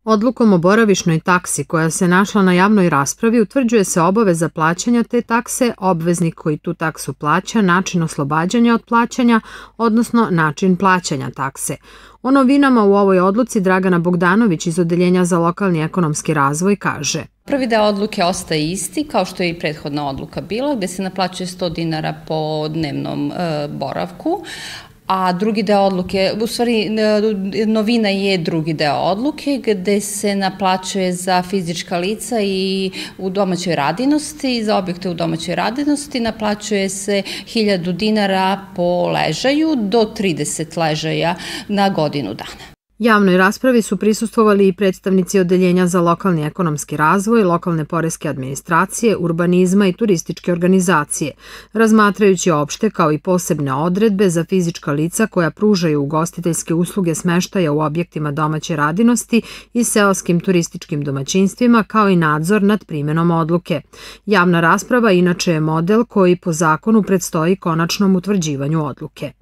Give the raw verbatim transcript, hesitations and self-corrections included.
Odlukom o boravišnoj taksi koja se našla na javnoj raspravi utvrđuje se obaveza plaćanja te takse, obveznik koji tu taksu plaća, način oslobađanja od plaćanja, odnosno način plaćanja takse. O novinama u ovoj odluci Dragana Bogdanović iz Odeljenja za lokalni ekonomski razvoj kaže: Prvi deo odluke ostaje isti, kao što je i prethodna odluka bila, gde se naplaćuje sto dinara po dnevnom e, boravku, a drugi deo odluke, u stvari novina je drugi deo odluke gde se naplaćuje za fizička lica i u domaćoj radinosti, za objekte u domaćoj radinosti naplaćuje se hiljadu dinara po ležaju do trideset ležaja na godinu dana. Javnoj raspravi su prisustvovali i predstavnici Odeljenja za lokalni ekonomski razvoj, lokalne poreske administracije, urbanizma i turističke organizacije, razmatrajući opšte kao i posebne odredbe za fizička lica koja pružaju ugostiteljske usluge smeštaja u objektima domaće radinosti i seoskim turističkim domaćinstvima, kao i nadzor nad primenom odluke. Javna rasprava inače je model koji po zakonu predstoji konačnom utvrđivanju odluke.